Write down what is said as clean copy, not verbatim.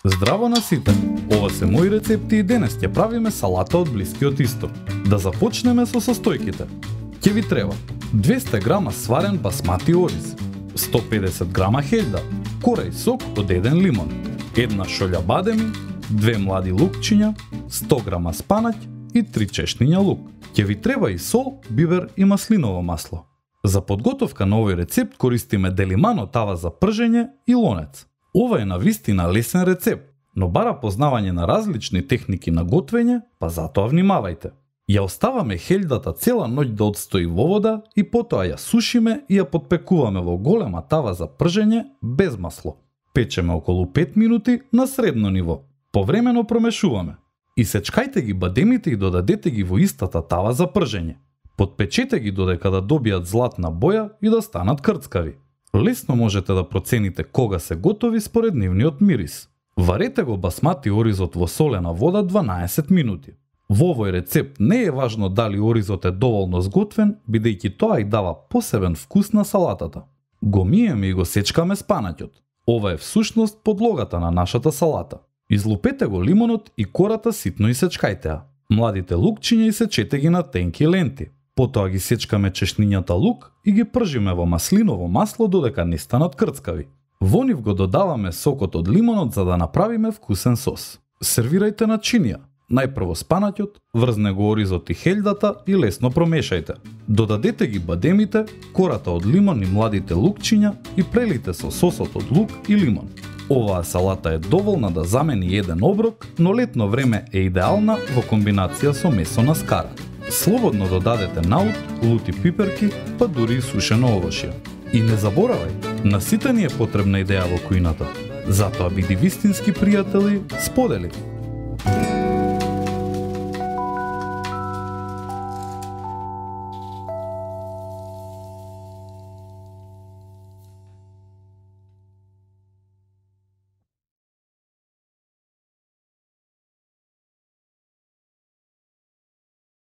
Здраво на сите! Ова се мои рецепти и денес ќе правиме салата од Блискиот Исток. Да започнеме со состојките. Ќе ви треба 200 грама сварен басмати ориз, 150 грама хељда, кора и сок од 1 лимон, 1 шолја бадеми, 2 млади лукчиња, 100 грама спанаќ и 3 чешниња лук. Ќе ви треба и сол, бибер и маслиново масло. За подготовка на овој рецепт користиме делимано тава за пржење и лонец. Ова е навистина лесен рецепт, но бара познавање на различни техники на готвење, па затоа внимавајте. Ја оставаме хељдата цела ноќ да одстои во вода и потоа ја сушиме и ја подпекуваме во голема тава за пржење без масло. Печеме околу 5 минути на средно ниво. Повремено промешуваме. Исечкајте ги бадемите и додадете ги во истата тава за пржење. Подпечете ги додека да добијат златна боја и да станат крцкави. Лесно можете да процените кога се готови според нивниот мирис. Варете го басмати оризот во солена вода 12 минути. Во овој рецепт не е важно дали оризот е доволно сготвен, бидејќи тоа и дава посебен вкус на салатата. Го миеме и го сечкаме спанаќот. Ова е всушност подлогата на нашата салата. Излупете го лимонот и кората ситно исечкајте ја. Младите лукчиња исечете ги на тенки ленти. Потоа ги сечкаме чешнињата лук и ги пржиме во маслиново масло додека не станат крцкави. Во нив го додаваме сокот од лимонот за да направиме вкусен сос. Сервирајте на чинија. Најпрво спанаќот, врзне го оризот и хељдата и лесно промешајте. Додадете ги бадемите, кората од лимон и младите лукчиња и прелите со сосот од лук и лимон. Оваа салата е доволна да замени еден оброк, но летно време е идеална во комбинација со месо на скара. Слободно додадете наут, лути пиперки, па дури и сушено овошје. И не заборавај, на сите ни е потребна идеја во кујната. Затоа биди вистински пријатели, сподели.